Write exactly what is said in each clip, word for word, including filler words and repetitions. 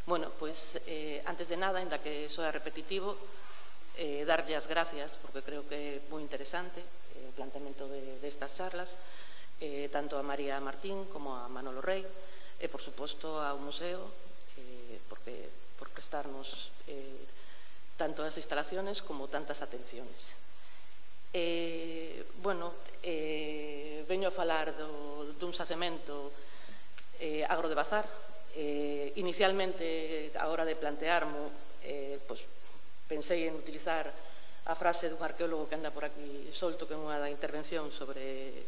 Bueno, pois, eh, antes de nada, ainda que soa repetitivo, eh, darlle as gracias, porque creo que é moi interesante eh, o planteamento de, destas charlas, eh, tanto a María Martín como a Manolo Rey, e, por suposto, ao museo, eh, porque, por prestarnos eh, tanto as instalaciones como tantas atenciones. Eh, bueno, eh, veño a falar do, dun xacemento eh, Agro de Bazar. Eh, inicialmente, a hora de plantearmo, eh, pues, pensei en utilizar a frase dun arqueólogo que anda por aquí solto, que é unha da intervención sobre,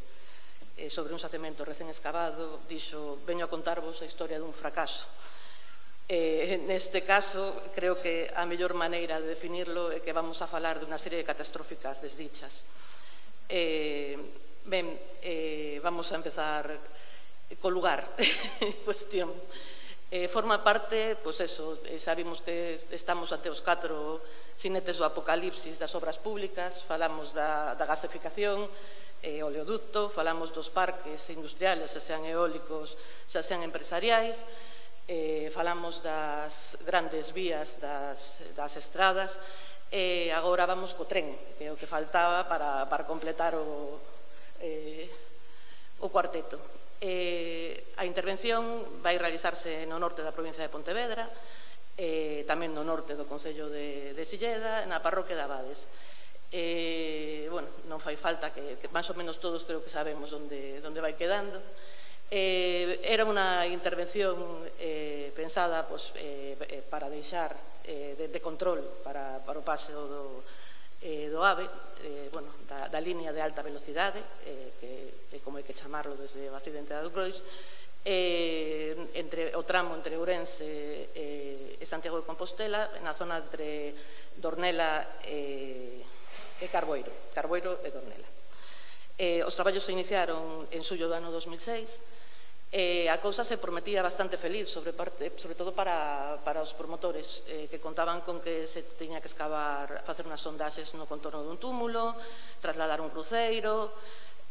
eh, sobre un xacemento recén escavado, dixo, veño a contarvos a historia dun fracaso. Eh, neste caso, creo que a mellor maneira de definirlo é que vamos a falar dunha serie de catastróficas desdichas. Eh, ben, eh, vamos a empezar co lugar en cuestión. Eh, forma parte, pois eso, eh, sabimos que estamos ante os catro sinetes do apocalipsis das obras públicas, falamos da, da gasificación, eh, oleoducto, falamos dos parques industriales, xa sean eólicos, xa sean empresariais, eh, falamos das grandes vías, das, das estradas, e eh, agora vamos co tren, que é o que faltaba para, para completar o, eh, o cuarteto. Eh, a intervención vai realizarse no norte da provincia de Pontevedra, eh, tamén no norte do concello de, de Silleda, na parroquia de Abades. Eh, bueno, non fai falta que, que máis ou menos todos creo que sabemos onde, onde vai quedando. Eh, era unha intervención eh, pensada pues, eh, para deixar eh, de, de control para, para o paseo do, eh, do AVE, eh, bueno, da, da línea de alta velocidade, eh, que é como hai que chamarlo desde o accidente de Algrois, eh, entre, o tramo entre Ourense eh, e Santiago de Compostela, na zona entre Dornela e, e Carboeiro, Carboeiro e Dornela. Eh, os traballos se iniciaron en xullo do ano dos mil seis, Eh, a cousa se prometía bastante feliz, sobre, parte, sobre todo para, para os promotores, eh, que contaban con que se tiña que excavar, facer unhas sondaxes no contorno dun túmulo, trasladar un cruceiro,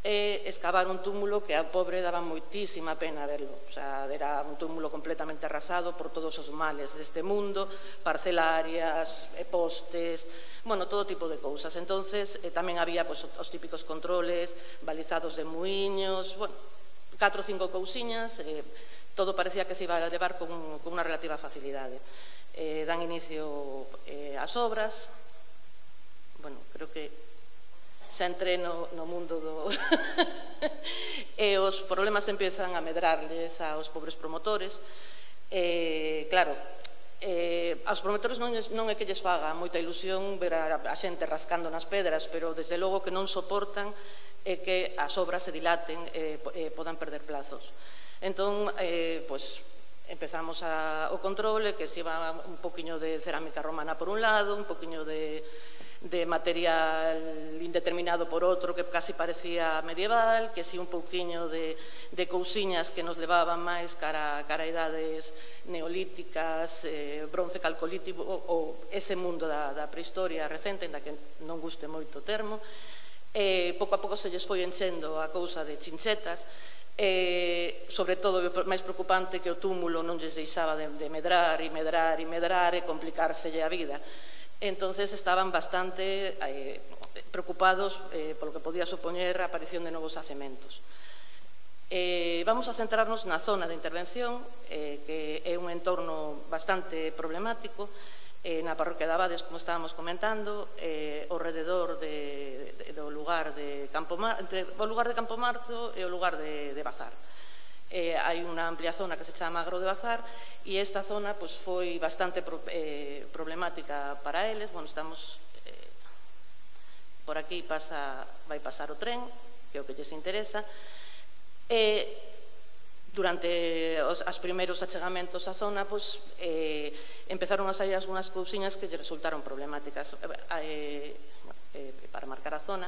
e excavar un túmulo que a pobre daba moitísima pena verlo. O sea, era un túmulo completamente arrasado por todos os males deste mundo, parcelarias, e postes, bueno, todo tipo de cousas. Entonces, eh, tamén había pues, os típicos controles, balizados de muiños, bueno, catro ou cinco cousiñas, eh, todo parecía que se iba a levar con, con unha relativa facilidade. Eh, dan inicio eh, ás obras, bueno, creo que xa entré no, no mundo do... e os problemas empiezan a medrarles aos pobres promotores. Eh, claro, eh, aos promotores non, non é que lles faga moita ilusión ver a, a xente rascando nas pedras, pero desde logo que non soportan e que as obras se dilaten e eh, podan perder plazos. Entón, eh, pues, empezamos a, o controle, que se iba un poquinho de cerámica romana por un lado, un poquinho de, de material indeterminado por outro, que casi parecía medieval, que si un poquinho de, de cousiñas que nos levaban máis cara, cara a idades neolíticas, eh, bronce calcolítico, ou, ou ese mundo da, da prehistoria recente, en da que non guste moito o termo. Eh, pouco a pouco se lles foi enchendo a cousa de chinchetas, eh, sobre todo o máis preocupante que o túmulo non lles deixaba de, de medrar e medrar e medrar e complicárselle a vida. Entonces estaban bastante eh, preocupados eh, polo que podía supoñer a aparición de novos xacementos. Eh, vamos a centrarnos na zona de intervención, eh, que é un entorno bastante problemático, Eh, na parroquia de Abades, como estábamos comentando, eh, ao rededor de, de, do lugar de Campo Mar, entre o lugar de Campo Marzo e o lugar de, de Bazar. Eh, hai unha amplia zona que se chama Agro de Bazar e esta zona pues, foi bastante pro, eh, problemática para eles. Bueno, estamos eh, por aquí pasa, vai pasar o tren, que é o que lles interesa. E durante os as primeiros achegamentos á zona, pues, eh, empezaron a sair algunhas cousiñas que lle resultaron problemáticas. Eh, eh, para marcar a zona,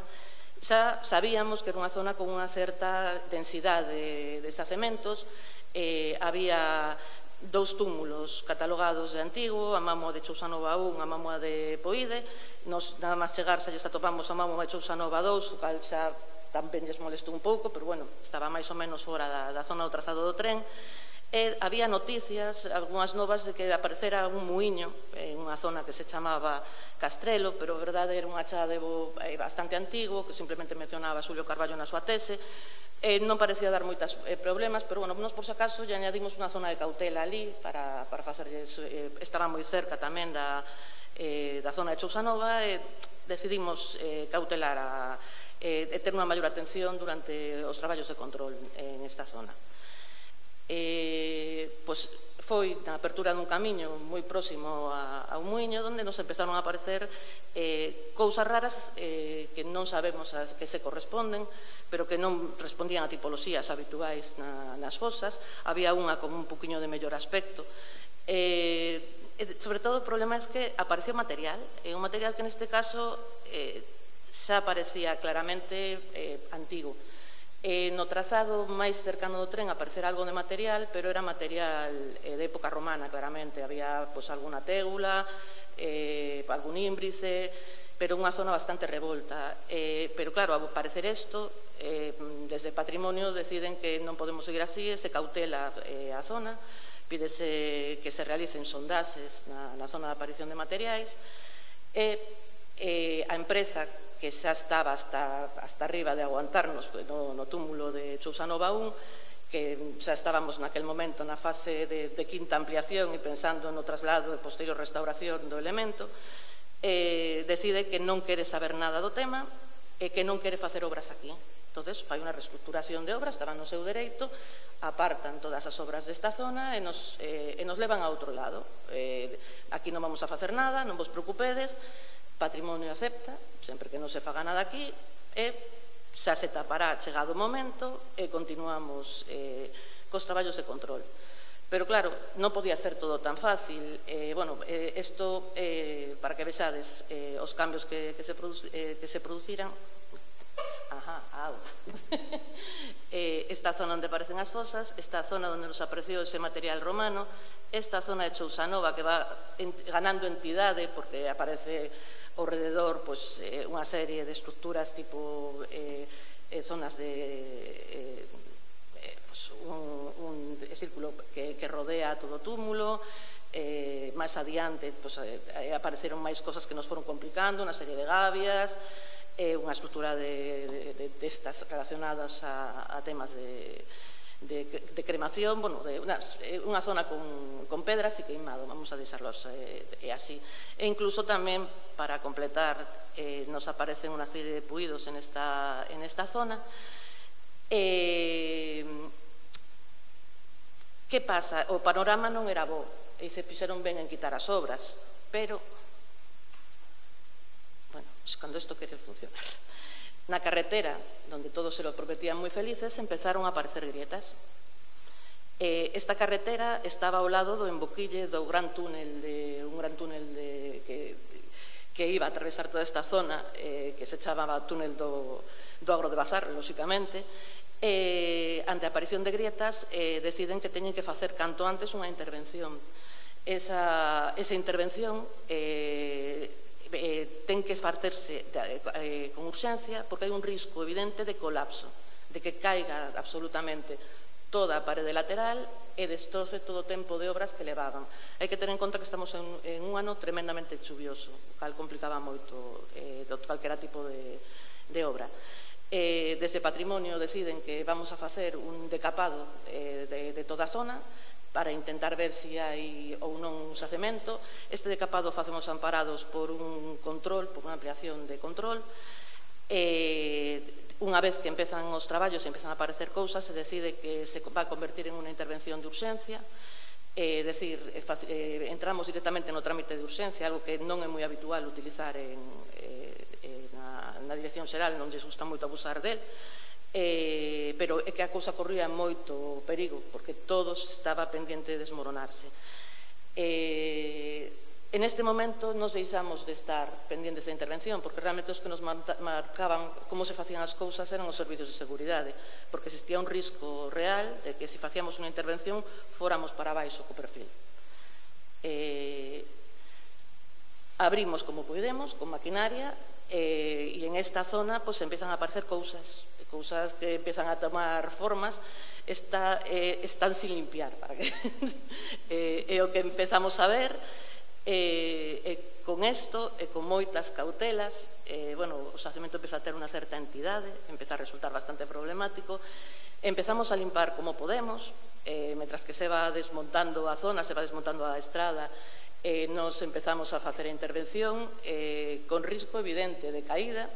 xa sabíamos que era unha zona con unha certa densidade de xacementos, eh, había dous túmulos catalogados de antigo, a Mámoa de Chousanova un, a Mámoa de Poide. Nos, nada máis chegar, xa lles atopamos a Mámoa de Chousanova dous, o cal xa tamén lles molestou un pouco, pero bueno, estaba máis ou menos fora da, da zona do trazado do tren. E había noticias, algunhas novas, de que aparecera un muiño en unha zona que se chamaba Castrelo, pero a verdade era un achadebo bastante antigo, que simplemente mencionaba Xulio Carballo na súa tese. Eh, non parecía dar moitos eh, problemas, pero, bueno, nos por si acaso lle añadimos unha zona de cautela ali para, para facerlles, eh, estaba moi cerca tamén da, eh, da zona de Chousanova, e decidimos eh, cautelar a, eh, e ter unha maior atención durante os traballos de control en esta zona. Eh, pois foi na apertura dun camiño moi próximo a, a un muiño onde nos empezaron a aparecer eh, cousas raras eh, que non sabemos a que se corresponden, pero que non respondían a tipoloxías habituais na, nas fosas. Había unha con un poquinho de mellor aspecto. Eh, sobre todo o problema é que aparecía material, e un material que neste caso eh, xa parecía claramente eh, antigo. Eh, no trazado máis cercano do tren aparecera algo de material, pero era material eh, de época romana, claramente. Había pois, alguna tégula, eh, algún ínbrice, pero unha zona bastante revolta. Eh, pero claro, ao parecer isto, eh, desde Patrimonio deciden que non podemos seguir así, e se cautela eh, a zona, pídese que se realicen sondaxes na, na zona de aparición de materiais, e eh, a empresa que xa estaba hasta, hasta arriba de aguantarnos no, no túmulo de Chousanova un, que xa estábamos naquel momento na fase de, de quinta ampliación e pensando no traslado e posterior restauración do elemento, eh, decide que non quere saber nada do tema e que non quere facer obras aquí. Entonces, fai unha reestructuración de obras, estaban no seu dereito, apartan todas as obras desta zona e nos, eh, e nos levan a outro lado. Eh, aquí non vamos a facer nada, non vos preocupedes, Patrimonio acepta, sempre que non se faga nada aquí, e xa se tapará chegado o momento e continuamos eh, cos traballos de control. Pero claro, non podía ser todo tan fácil. Eh, bueno, eh, esto, eh, para que vexades eh, os cambios que, que, se produ eh, que se produciran. Ajá, agua. eh, esta zona onde aparecen as fosas, esta zona onde nos apareceu ese material romano, esta zona de Chousanova que va en, ganando entidade porque aparece ao rededor pois, eh, unha serie de estructuras tipo eh, eh, zonas de eh, eh, pois, un, un círculo que, que rodea todo o túmulo. Eh, máis adiante pois, eh, apareceron máis cosas que nos foron complicando, unha serie de gavias, eh, unha estructura de, de, de estas relacionadas a, a temas de De, de cremación, bueno, de una, unha zona con, con pedras e queimado, vamos a deixarlos eh, eh, así. E incluso tamén, para completar, eh, nos aparecen unha serie de puidos en esta, en esta zona. Eh, que pasa? O panorama non era bo, e se fixeron ben en quitar as obras, pero, bueno, pues cando isto quere funcionar. Na carretera, onde todos se lo prometían moi felices, empezaron a aparecer grietas. Eh, esta carretera estaba ao lado do emboquille do gran túnel, de, un gran túnel de, que, que iba a atravesar toda esta zona, eh, que se chamaba túnel do, do Agro de Bazar, lóxicamente. Eh, ante a aparición de grietas, eh, deciden que teñen que facer canto antes unha intervención. Esa, esa intervención eh, Eh, ten que facerse eh, con urxencia porque hai un risco evidente de colapso, de que caiga absolutamente toda a parede lateral e destroce todo o tempo de obras que levaban. Hai que ter en conta que estamos en, en un ano tremendamente chuvioso, o cal complicaba moito eh, de calquera tipo de, de obra. Eh, desde Patrimonio deciden que vamos a facer un decapado eh, de, de toda a zona para intentar ver se hai ou non un xacemento. Este decapado facemos amparados por un control, por unha ampliación de control. Eh, unha vez que empezan os traballos e empezan a aparecer cousas, se decide que se va a convertir en unha intervención de urxencia. É dicir, eh, entramos directamente no trámite de urxencia, algo que non é moi habitual utilizar en, eh, na, na Dirección Xeral, non lles gusta moito abusar del. Eh, pero é que a cousa corría moito perigo porque todo estaba pendiente de desmoronarse. Eh, en este momento nos deixamos de estar pendientes da intervención porque realmente os que nos marcaban como se facían as cousas eran os servicios de seguridade, porque existía un risco real de que se facíamos unha intervención fóramos para baixo co perfil. Eh, abrimos como podemos, con maquinaria, eh, e en esta zona pues, empiezan a aparecer cousas, cousas que empiezan a tomar formas, está, eh, están sin limpiar, para que eh, é o que empezamos a ver, e eh, eh, con isto, e eh, con moitas cautelas, eh, bueno, o xacemento empeza a ter unha certa entidade, empeza a resultar bastante problemático, empezamos a limpar como podemos, eh, mentras que se va desmontando a zona, se va desmontando a estrada, eh, nos empezamos a facer a intervención eh, con risco evidente de caída,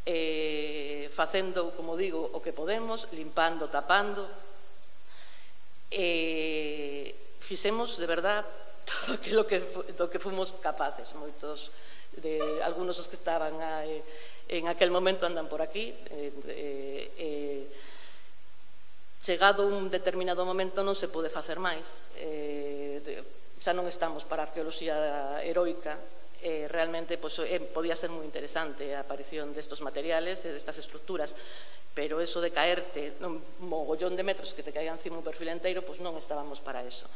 eh, facendo, como digo, o que podemos, limpando, tapando. Eh, fixemos, de verdad, todo aquilo que, do que fomos capaces. Moitos, de, algunos dos que estaban a, eh, en aquel momento andan por aquí. Eh, eh, eh, chegado un determinado momento non se pode facer máis. Eh, de, xa non estamos para a arqueoloxía heroica, eh, realmente pues, eh, podía ser moi interesante a aparición destos materiales e destas estructuras, pero eso de caerte un mogollón de metros que te caigan encima un perfil enteiro, pues non estábamos para eso.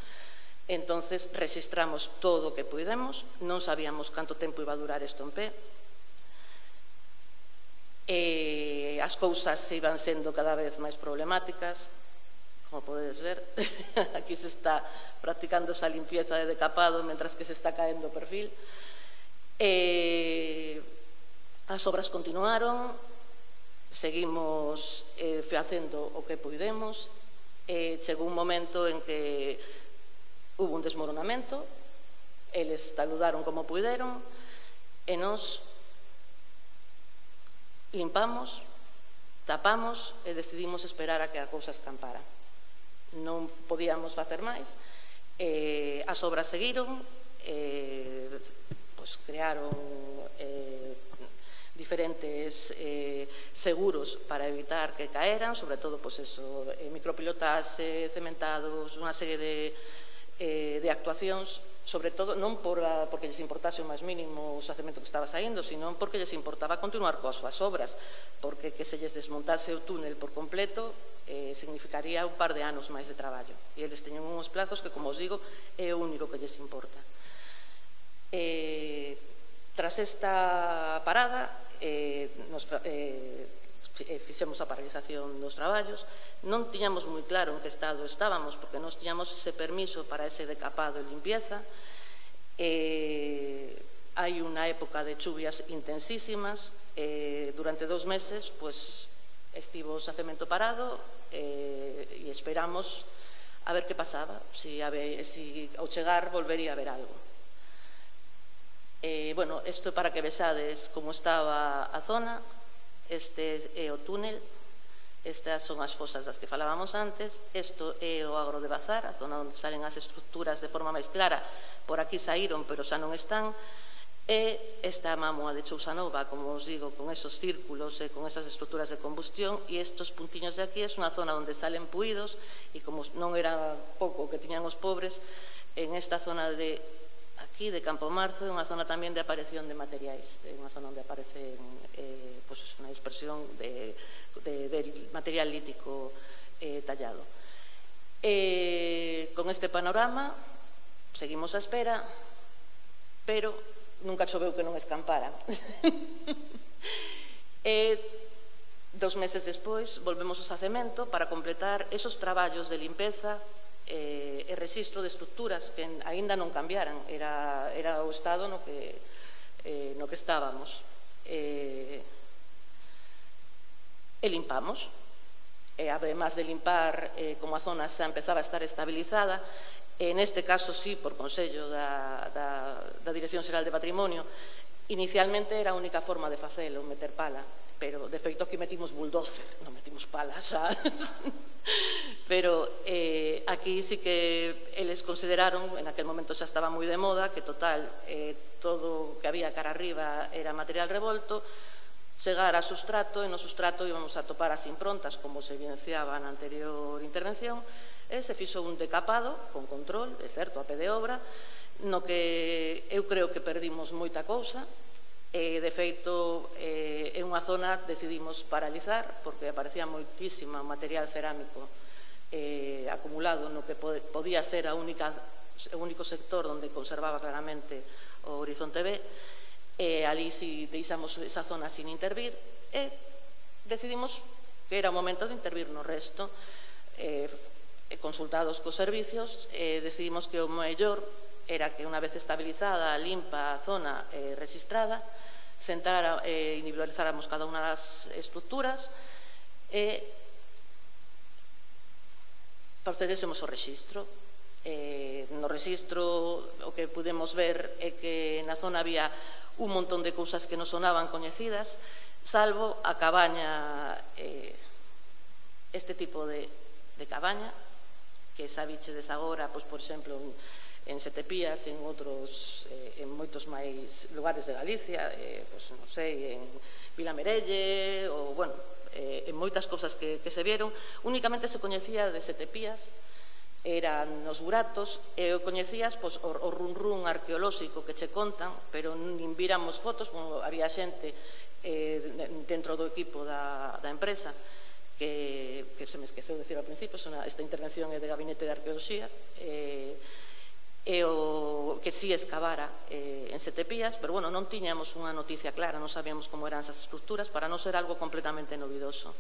Entonces registramos todo o que pudemos, non sabíamos canto tempo iba a durar isto en pé, e as cousas iban sendo cada vez máis problemáticas. Como podedes ver, aquí se está practicando esa limpieza de decapado mentras que se está caendo o perfil. Eh, as obras continuaron, seguimos eh, facendo o que pudemos, eh, chegou un momento en que hubo un desmoronamento, eles saludaron como puderon, e nos limpamos, tapamos e decidimos esperar a que a cousa escampara. Non podíamos facer máis, eh, as obras seguiron, eh, pues crearon eh, diferentes eh, seguros para evitar que caeran, sobre todo pues eso, eh, micropilotaxe, cementados, unha serie de, eh, de actuacións, sobre todo non por a, porque lles importase o máis mínimo o xacemento que estaba saindo, sino porque lles importaba continuar coas súas obras, porque que se lles desmontase o túnel por completo eh, significaría un par de anos máis de traballo, e eles teñen uns plazos que, como os digo, é o único que lles importa. Eh, tras esta parada, eh, nos, eh, fixemos a paralización dos traballos, non tiñamos moi claro en que estado estábamos, porque nos tiñamos ese permiso para ese decapado e limpieza. Eh, hai unha época de chuvias intensísimas, eh, durante dous meses pues, estivo o xacemento parado eh, e esperamos a ver que pasaba, si, si ao chegar volvería a haber algo. Eh, bueno, isto para que vexades como estaba a zona. Este é o túnel, estas son as fosas das que falábamos antes, isto é o agro de Bazar, a zona onde salen as estructuras de forma máis clara, por aquí saíron, pero xa non están, e esta mámoa de Chousanova, como os digo, con esos círculos e con esas estructuras de combustión, e estos puntiños de aquí é unha zona onde salen puídos, e como non era pouco que tiñan os pobres, en esta zona de aquí, de Campo Marzo, é unha zona tamén de aparición de materiais, é unha zona onde aparecen eh, pues, unha dispersión de, de, de material lítico eh, tallado. Eh, con este panorama, seguimos a espera, pero nunca choveu que non escampara. E dos meses despois, volvemos ao xacemento para completar esos traballos de limpeza e rexistro de estructuras que aínda non cambiaran, era, era o estado no que, eh, no que estábamos. E, e limpamos, e además de limpar, eh, como a zona xa empezaba a estar estabilizada, e neste caso sí, por consello da, da, da Dirección Xeral de Patrimonio, inicialmente era a única forma de facelo, meter pala, pero de feito aquí metimos bulldozer, non metimos pala, sabes? Pero eh, aquí sí que eles consideraron, en aquel momento xa estaba moi de moda, que total, eh, todo o que había cara arriba era material revolto, chegar a sustrato, e no sustrato íbamos a topar as improntas, como se evidenciaba na anterior intervención, e se fixo un decapado, con control, é certo, a pé de obra, no que eu creo que perdimos moita cousa, e de feito eh, en unha zona decidimos paralizar porque aparecía moitísimo material cerámico eh, acumulado no que podía ser a única o único sector onde conservaba claramente o Horizonte B, e ali si deixamos esa zona sin intervir, e decidimos que era o momento de intervir no resto. Consultados cos servicios, decidimos que o mellor era que unha vez estabilizada, limpa a zona registrada, centrar e individualizáramos cada unha das estructuras e procedésemos ao rexistro. No rexistro o que pudemos ver é que na zona había un montón de cousas que nos sonaban coñecidas, salvo a cabaña, este tipo de cabaña, que sabichedes agora, pois, por exemplo, en Setepías, en outros, en moitos máis lugares de Galicia, pois, non sei, en Vilamerelle, ou, bueno, en moitas cousas que se vieron, únicamente se coñecía de Setepías, eran os buratos, e o coñecías o run-run arqueolóxico que che contan, pero nin viramos fotos, había xente dentro do equipo da empresa que se me esqueceu de dicir ao principio, esta intervención é de Gabinete de Arqueoloxía, e o que si excavara en Setepías, pero, bueno, non tiñamos unha noticia clara, non sabíamos como eran esas estructuras, para non ser algo completamente novidoso.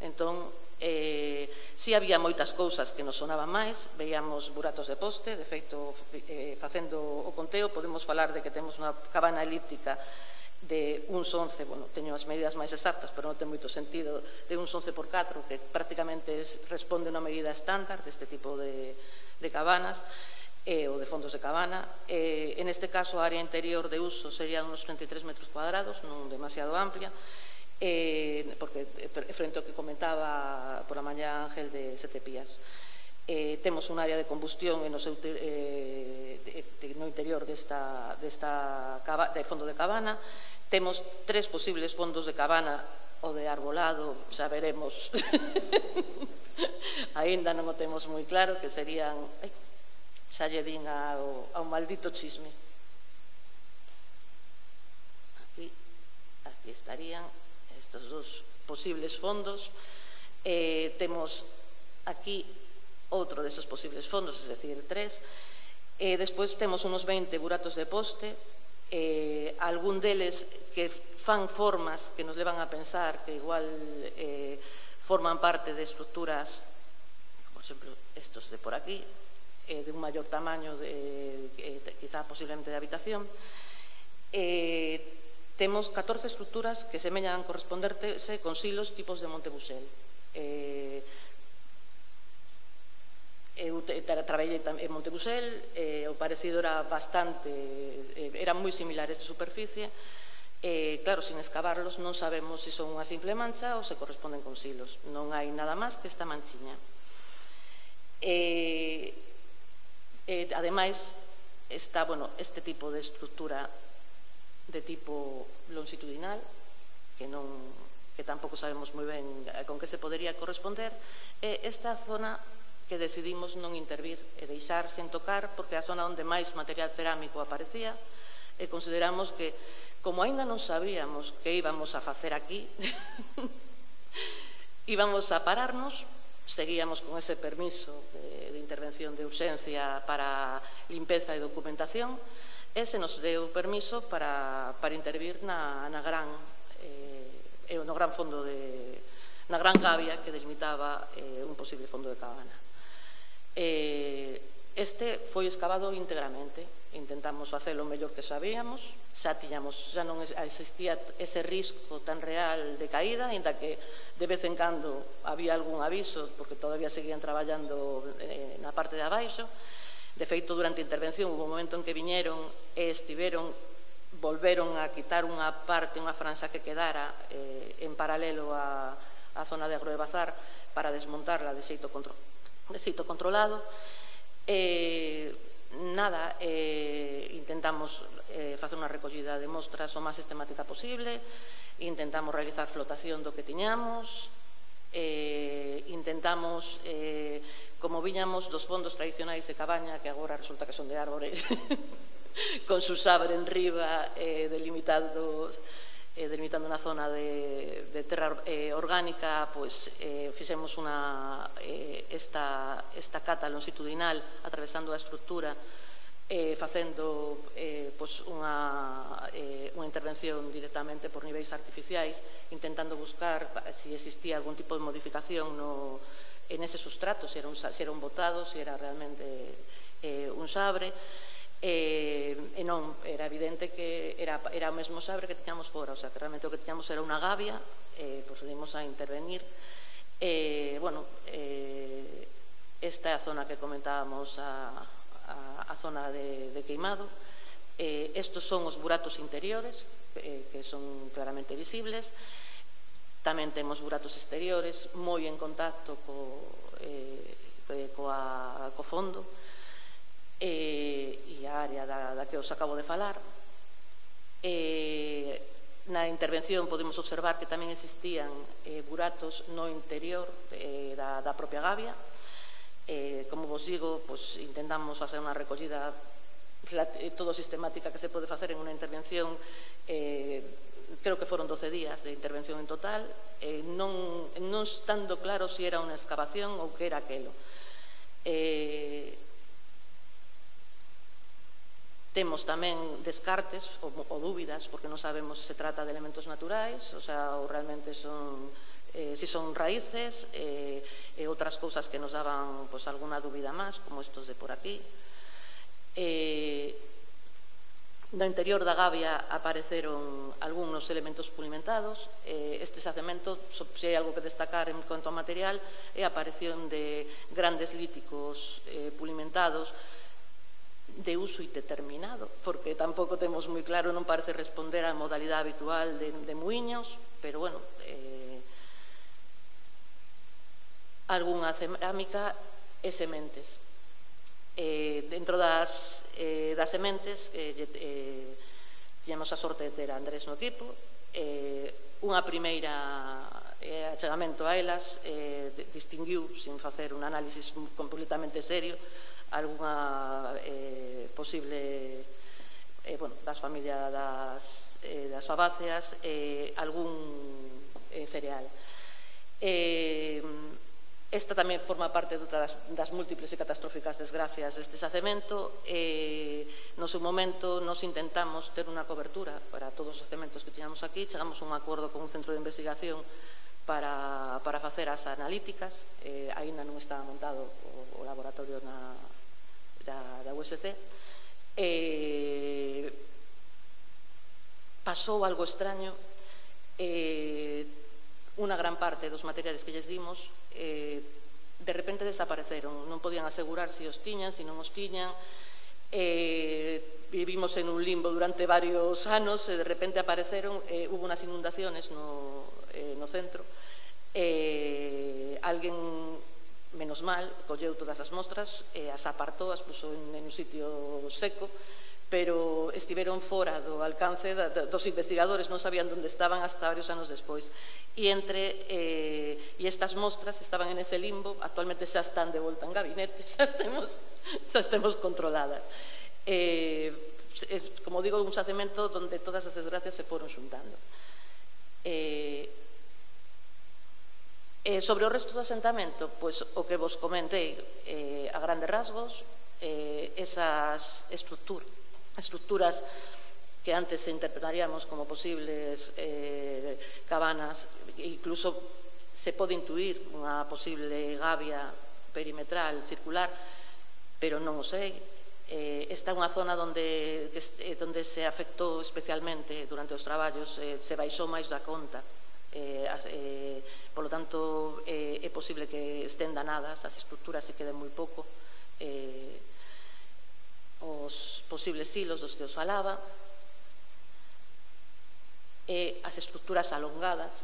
Entón, si había moitas cousas que nos sonaban máis, veíamos buratos de poste, de feito, facendo o conteo, podemos falar de que temos unha cabana elíptica de uns once, bueno, teño as medidas máis exactas, pero non ten moito sentido, de uns once por catro, que prácticamente responde a unha medida estándar deste tipo de cabanas, ou de fondos de cabana. En este caso, a área interior de uso sería uns treinta e tres metros cuadrados, non demasiado amplia, porque frente ao que comentaba por a mañá Ángel de Setepías. Temos un área de combustión no interior desta fondo de cabana. Temos tres posibles fondos de cabana, o de arbolado, xa veremos, aínda non o temos moi claro, que serían, xa lle din ao maldito chisme. Aquí estarían estes dos posibles fondos. Temos aquí outro deses posibles fondos, es decir, tres. Despois temos unos veinte buratos de poste, algún deles que fan formas que nos levan a pensar que igual forman parte de estructuras, como, por exemplo, estos de por aquí, de un maior tamaño, quizá posiblemente de habitación. Temos catorce estructuras que semellan corresponderse con silos tipos de Montebusel. Eu traballei en Montebusel, o parecido era bastante, eran moi similares de superficie. Claro, sin excavarlos non sabemos se son unha simple mancha ou se corresponden con silos. Non hai nada máis que esta manchiña. Ademais, está, bueno, este tipo de estructura de tipo longitudinal, que non, que tampouco sabemos moi ben con que se podería corresponder, e esta zona que decidimos non intervir e deixar sen tocar, porque é a zona onde máis material cerámico aparecía, e consideramos que, como aínda non sabíamos que íbamos a facer aquí, íbamos a pararnos, seguíamos con ese permiso de intervención de urxencia para limpeza e documentación, e se nos deu permiso para intervir na gran no gran fondo de na gran gavia que delimitaba un posible fondo de cabana. Este foi excavado íntegramente, intentamos facelo o mellor que sabíamos, xa tiñamos, xa non existía ese risco tan real de caída, ainda que de vez en cando había algún aviso, porque todavía seguían traballando na parte de abaixo. De feito, durante a intervención, hubo un momento en que viñeron e estiveron, volveron a quitar unha parte, unha franxa que quedara en paralelo á zona de Agro de Bazar para desmontarla de xeito controlado. Nada, intentamos facer unha recollida de mostras o máis sistemática posible, intentamos realizar flotación do que tiñamos, intentamos, como viñamos dos fondos tradicionais de cabaña, que agora resulta que son de árbore, con su sabre en riba, delimitados, eh, delimitando unha zona de, de terra eh, orgánica, pois eh, fixemos unha, eh, esta, esta cata longitudinal atravesando a estructura, eh, facendo eh, pois unha, eh, unha intervención directamente por niveis artificiais, intentando buscar se si existía algún tipo de modificación no, en ese sustrato, se era un, se era un botado, se era realmente eh, un sabre. E, e non, era evidente que era, era o mesmo sabre que tiñamos fora, o sea, que realmente o que tiñamos era unha gavia, e procedimos a intervenir. E, bueno, eh, esta é a zona que comentábamos, a, a, a zona de, de queimado. Eh, estos son os buratos interiores, eh, que son claramente visibles. Tamén temos buratos exteriores, moi en contacto co, eh, coa, co fondo, e a área da, da que os acabo de falar. E, na intervención podemos observar que tamén existían eh, buratos no interior eh, da, da propia gavia. Eh, como vos digo, pues, intentamos facer unha recollida todo sistemática que se pode facer en unha intervención. Eh, creo que foron doce días de intervención en total, eh, non, non estando claro se era unha excavación ou que era aquelo. Eh, Temos tamén descartes ou, ou dúbidas, porque non sabemos se se trata de elementos naturais, o sea, ou realmente son, eh, si son raíces, e eh, outras cousas que nos daban pues, alguna dúbida máis, como estos de por aquí. Eh, no interior da gavia apareceron algúns elementos pulimentados. Eh, este xacemento, se hai algo que destacar en cuanto a material, é a aparición de grandes líticos eh, pulimentados, de uso indeterminado, porque tampouco temos moi claro, non parece responder á modalidade habitual de, de muiños, pero, bueno, eh, algunha cerámica e sementes. Eh, dentro das, eh, das sementes, eh, eh, tiñamos a sorte de ter a Andrés no equipo, eh, unha primeira eh, achegamento a elas, eh, distinguiu, sin facer un análisis completamente serio, algunha eh, posible eh, bueno, das familias das, eh, das fabáceas, eh, algún eh, cereal. Eh, esta tamén forma parte de outra das, das múltiples e catastróficas desgracias deste xacemento. Eh, no seu momento nos intentamos ter unha cobertura para todos os xacementos que tiñamos aquí, chegamos a un acordo con un centro de investigación para, para facer as analíticas. Eh, aínda non estaba montado o, o laboratorio na Da, da U S C. Eh, pasou algo extraño. Eh, unha gran parte dos materiales que lles dimos eh, de repente desapareceron, non podían asegurar se os tiñan, se non os tiñan. Eh, vivimos en un limbo durante varios anos e de repente apareceron. Eh, hubo unas inundaciones no, eh, no centro. Eh, alguén, menos mal, colleu todas as mostras e as apartou, as puxo en, en un sitio seco, pero estiveron fora do alcance da, da, dos investigadores, non sabían onde estaban hasta varios anos despois. E entre eh, e estas mostras estaban en ese limbo, actualmente xa están de volta en gabinete, xa estemos, xa estemos controladas. Eh, como digo, un xacemento onde todas as desgracias se foron xuntando. Eh, Eh, sobre o resto do asentamento, pois, o que vos comentei eh, a grandes rasgos, eh, esas estructuras, estructuras que antes se interpretaríamos como posibles eh, cabanas, incluso se pode intuir unha posible gavia perimetral, circular, pero non o sei. Eh, esta é unha zona onde, que, eh, onde se afectou especialmente durante os traballos, eh, se baixou máis da conta. Eh, eh, por lo tanto, eh, é posible que estén danadas as estructuras e queden moi pouco. Eh, os posibles silos dos que os falaba, e as estructuras alongadas,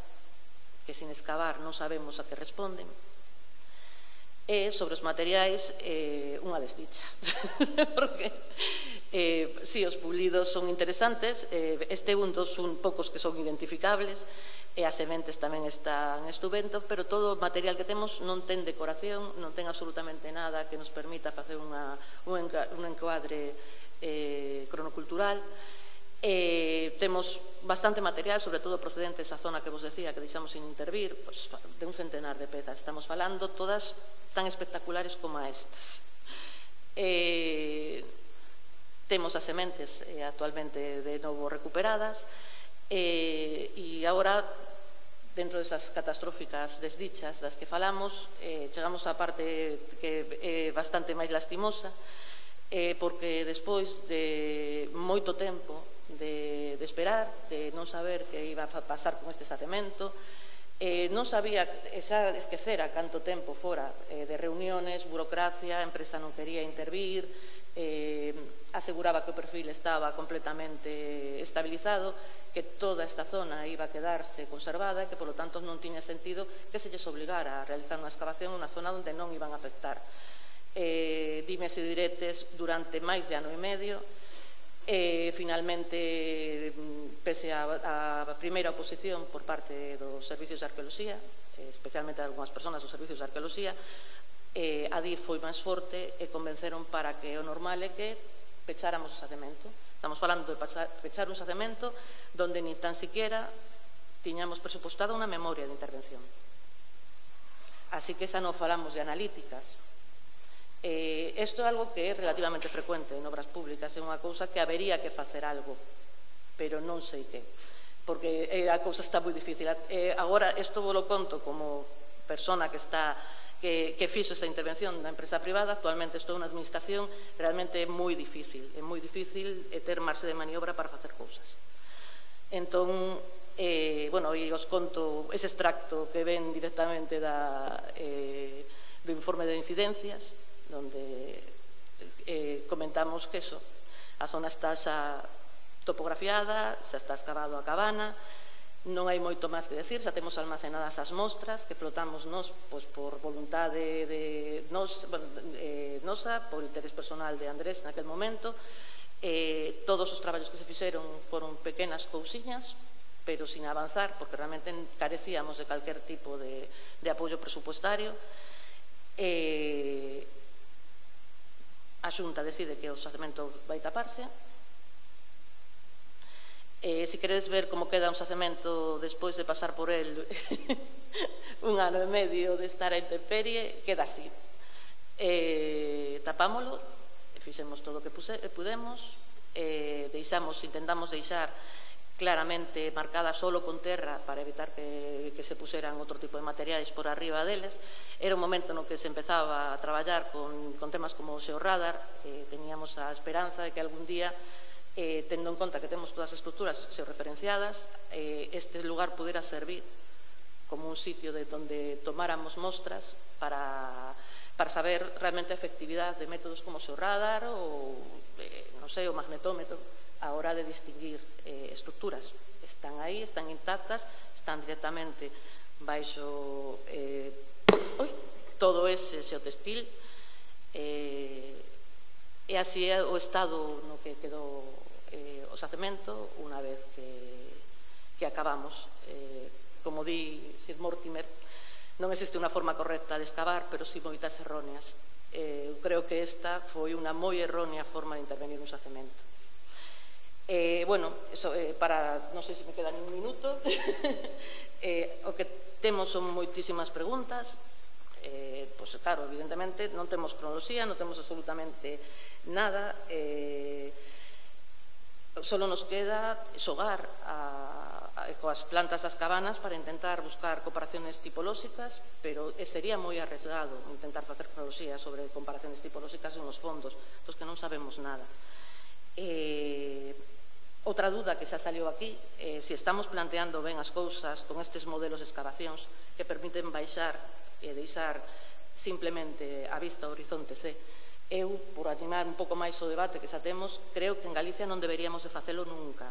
que sin excavar non sabemos a que responden. E sobre os materiais, eh, unha desdicha, porque eh, si os pulidos son interesantes, eh, este un dos un poucos que son identificables, e as sementes tamén están estupendos, pero todo o material que temos non ten decoración, non ten absolutamente nada que nos permita facer unha, un encuadre eh, cronocultural, Eh, temos bastante material, sobre todo procedente desa zona que vos decía que deixamos sin intervir, pues, de un centenar de pezas. Estamos falando todas tan espectaculares como a estas. Eh, temos as sementes eh, actualmente de novo recuperadas eh, e agora, dentro desas catastróficas desdichas das que falamos, eh, chegamos á parte que é bastante máis lastimosa, eh, porque despois de moito tempo de, de esperar, de non saber que iba a pasar con este xacemento, eh, non sabía, xa esquecera canto tempo fora eh, de reuniones, burocracia, a empresa non quería intervir, eh, aseguraba que o perfil estaba completamente estabilizado, que toda esta zona iba a quedarse conservada e que, polo tanto, non tiña sentido que se lles obligara a realizar unha excavación en unha zona onde non iban a afectar. Eh, dimes e diretes durante máis de ano e medio. E, finalmente, pese á primeira oposición por parte dos servicios de arqueoloxía, especialmente algunhas persoas dos servicios de arqueoloxía, a D I F foi máis forte e convenceron para que o normal é que pecháramos o xacemento. Estamos falando de pechar un xacemento donde ni tan siquiera tiñamos presupostada unha memoria de intervención. Así que xa non falamos de analíticas. Eh, isto é algo que é relativamente frecuente en obras públicas, é unha cousa que habería que facer algo, pero non sei que, porque eh, a cousa está moi difícil. Eh, agora, isto vos lo conto como persona que está que, que fixo esa intervención da empresa privada. Actualmente estou na administración, realmente é moi difícil, é moi difícil ter marxe de maniobra para facer cousas. Entón, eh, bueno, e os conto ese extracto que ven directamente da, eh, do informe de incidencias, donde eh, comentamos que eso, a zona está xa topografiada, xa está excavado a cabana, non hai moito máis que decir, xa temos almacenadas as mostras que flotamos nos, pois, por voluntade de nos, eh, nosa, por interés personal de Andrés naquel momento. Eh, todos os traballos que se fixeron foron pequenas cousiñas, pero sin avanzar, porque realmente carecíamos de calquer tipo de, de apoio presupuestario. Eh, a Xunta decide que o xacemento vai taparse. Eh, se queredes ver como queda un xacemento despois de pasar por el un ano e medio de estar a intemperie, queda así. Eh, tapámolo, fixemos todo o que pudemos, eh, deixamos, intentamos deixar claramente marcada solo con terra para evitar que, que se puseran outro tipo de materiais por arriba deles. Era un momento no que se empezaba a traballar con, con temas como o xeorradar. Eh, teníamos a esperanza de que algún día, eh, tendo en conta que temos todas as estruturas xeorreferenciadas, eh, este lugar pudera servir como un sitio de donde tomáramos mostras para, para saber realmente a efectividade de métodos como o xeorradar ou, eh, non sei, o magnetómetro, a hora de distinguir eh, estruturas. Están aí, están intactas, están directamente baixo eh, oi, todo ese xeotextil, eh, e así é o estado no que quedou eh, o xacemento unha vez que, que acabamos. Eh, como di Sir Mortimer, non existe unha forma correcta de excavar, pero si moitas erróneas. Eh, creo que esta foi unha moi errónea forma de intervenir un xacemento. Eh, bueno, eso, eh, para, non sei se me queda nin un minuto, eh, o que temos son moitísimas preguntas. Eh, pois, claro, evidentemente non temos cronoloxía, non temos absolutamente nada, eh, solo nos queda xogar a, a, coas plantas das cabanas para intentar buscar comparaciones tipolóxicas, pero sería moi arriesgado intentar facer cronoloxía sobre comparaciones tipolóxicas en os fondos, dos que non sabemos nada. Eh, Outra dúda que xa saliu aquí, eh, se estamos planteando ben as cousas con estes modelos de excavacións que permiten baixar e deixar simplemente a vista ao horizonte C. Eu, por animar un pouco máis o debate que xa temos, creo que en Galicia non deberíamos de facelo nunca,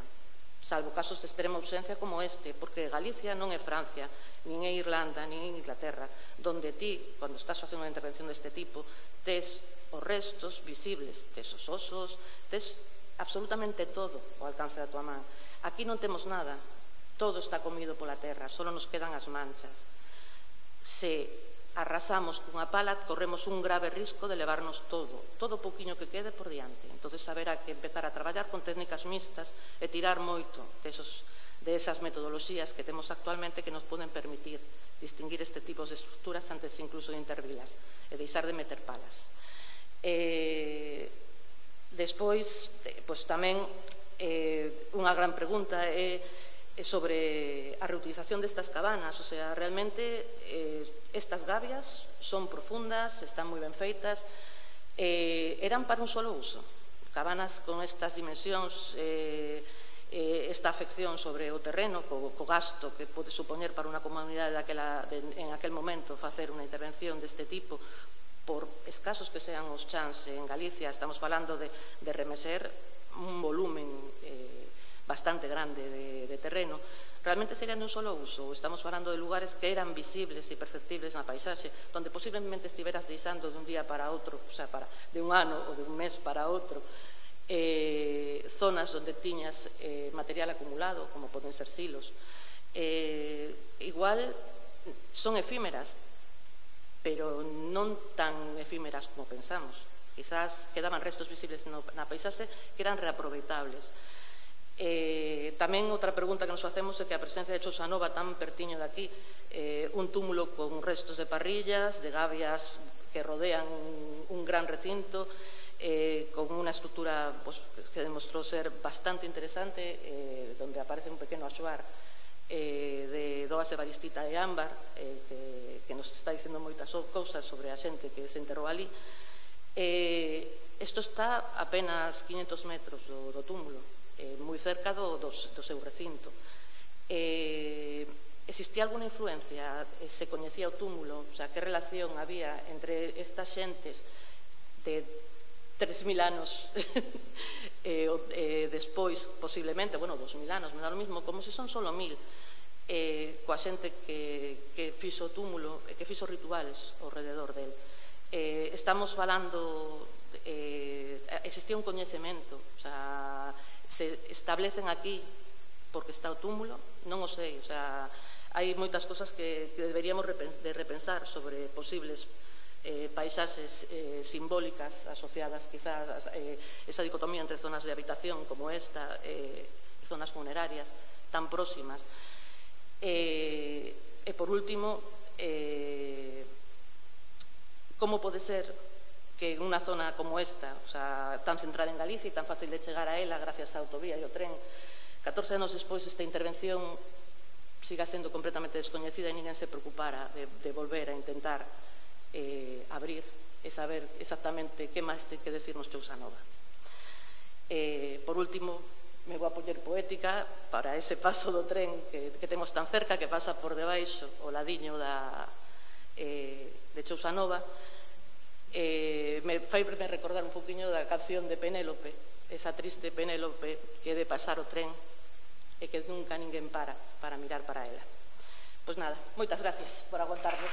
salvo casos de extrema ausencia como este, porque Galicia non é Francia, nin é Irlanda, nin é Inglaterra, donde ti, cando estás facendo unha intervención deste tipo, tes os restos visibles, tes os osos, tes absolutamente todo ao alcance da tua man. Aquí non temos nada, todo está comido pola terra, só nos quedan as manchas. Se arrasamos cunha pala, corremos un grave risco de levarnos todo, todo o pouquiño que quede por diante. Entón, haberá que empezar a traballar con técnicas mixtas e tirar moito desos, de esas metodoloxías que temos actualmente que nos poden permitir distinguir este tipo de estructuras antes incluso de intervilas e deixar de meter palas. Eh, despois, pois tamén, eh, unha gran pregunta é sobre a reutilización destas cabanas, o sea, realmente eh, estas gabias son profundas, están moi ben feitas, eh, eran para un solo uso. Cabanas con estas dimensións, eh, eh, esta afección sobre o terreno, co, co gasto que pode supoñer para unha comunidade daquela, de, en aquel momento facer unha intervención deste tipo, por escasos que sean os chans en Galicia, estamos falando de, de remeser un volumen eh, bastante grande de, de terreno, realmente serían de un solo uso. Estamos falando de lugares que eran visibles e perceptibles na paisaxe, donde posiblemente estiveras deixando de un día para outro, o sea, para, de un ano ou de un mes para outro, eh, zonas onde tiñas eh, material acumulado, como poden ser silos. Eh, igual son efímeras, pero non tan efímeras como pensamos. Quizás quedaban restos visibles na paisaxe que eran reaproveitables. Eh, tamén outra pregunta que nos facemos é que a presencia de Chousa Nova tan pertiño de aquí, eh, un túmulo con restos de parrillas, de gavias que rodean un, un gran recinto, eh, con unha estructura pues, que demostrou ser bastante interesante, eh, donde aparece un pequeno axuar eh, de doas de varistita e ámbar, eh, que, que nos está dicendo moitas cousas sobre a xente que se enterrou ali. Eh, isto está a apenas quinhentos metros do, do túmulo, Eh, moi cerca do, do, do seu recinto. Eh, existía alguna influencia? Eh, se coñecía o túmulo? O sea, que relación había entre estas xentes de tres mil anos eh, eh, despois, posiblemente, bueno, dos mil anos, me dá o mismo, como se son solo mil, eh, coa xente que, que fixo o túmulo e que fixo rituales ao rededor del. Eh, estamos falando, eh, existía un coñecemento, o sea, se establecen aquí porque está o túmulo, non o sei, o sea, hai moitas cosas que, que deberíamos de repensar sobre posibles eh, paisaxes eh, simbólicas asociadas quizás a eh, esa dicotomía entre zonas de habitación como esta e eh, zonas funerarias tan próximas. Eh, e por último, eh, como pode ser que en unha zona como esta, o sea, tan centrada en Galicia e tan fácil de chegar a ela gracias á autovía e ao tren, catorce anos despois esta intervención siga sendo completamente descoñecida e ninguén se preocupara de, de volver a intentar eh, abrir e saber exactamente que máis ten que decirnos Chousa Nova. Eh, por último, me vou a poñer poética para ese paso do tren que, que temos tan cerca, que pasa por debaixo o ladiño da, eh, de Chousa Nova. Eh, me fai me recordar un poquinho da canción de Penélope, esa triste Penélope que de pasar o tren e que nunca ninguén para para mirar para ela. Pois nada, moitas gracias por aguantarme.